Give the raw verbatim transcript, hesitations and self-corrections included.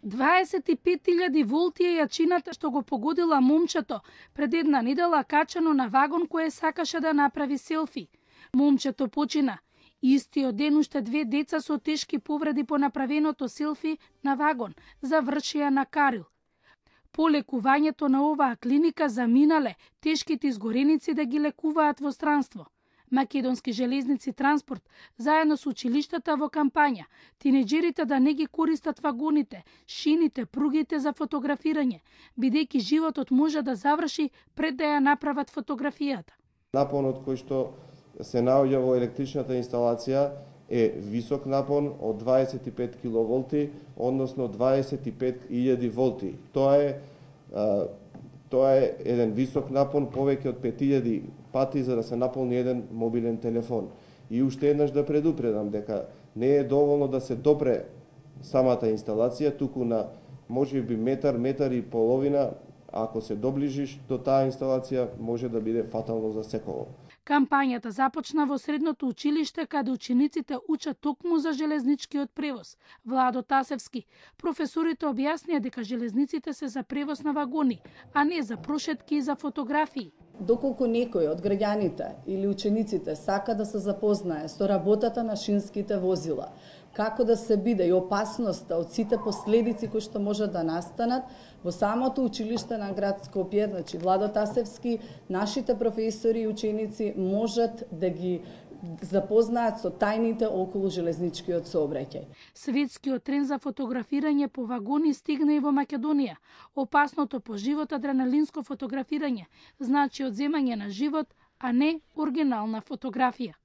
дваесет и пет илјади волти е јачината што го погодила момчето пред една недела качено на вагон кое сакаше да направи селфи. Момчето почина. Истиот ден уште две деца со тешки повреди по направеното селфи на вагон завршија на Карил. По лекувањето на оваа клиника заминале тешките изгореници да ги лекуваат во странство. Македонски железници транспорт, заедно со училиштата во кампања, тинеџерите да не ги користат вагоните, шините, пругите за фотографирање, бидејќи животот може да заврши пред да ја направат фотографијата. Напонот кој што се наоѓа во електричната инсталација е висок напон од дваесет и пет киловолти, односно дваесет и пет илјади волти. Тоа е а, тоа е еден висок напон, повеќе од пет илјади пати за да се наполни еден мобилен телефон. И уште еднаш да предупредам дека не е доволно да се допре самата инсталација, туку на можеби метар, метар и половина, ако се доближиш до таа инсталација, може да биде фатално за секого. Кампањата започна во средното училиште каде учениците учат токму за железничкиот превоз. Владо Тасевски, професорите објаснија дека железниците се за превоз на вагони, а не за прошетки и за фотографии. Доколку некој од граѓаните или учениците сака да се запознае со работата на шинските возила, како да се биде и опасноста од сите последици кои што може да настанат, во самото училиште на град Скопје, значи Владо Тасевски, нашите професори и ученици можат да ги запознаат со тајните околу железничкиот сообраќај. Светскиот тренд за фотографирање по вагони стигна и во Македонија. Опасното по живот адреналинско фотографирање значи одземање на живот, а не оригинална фотографија.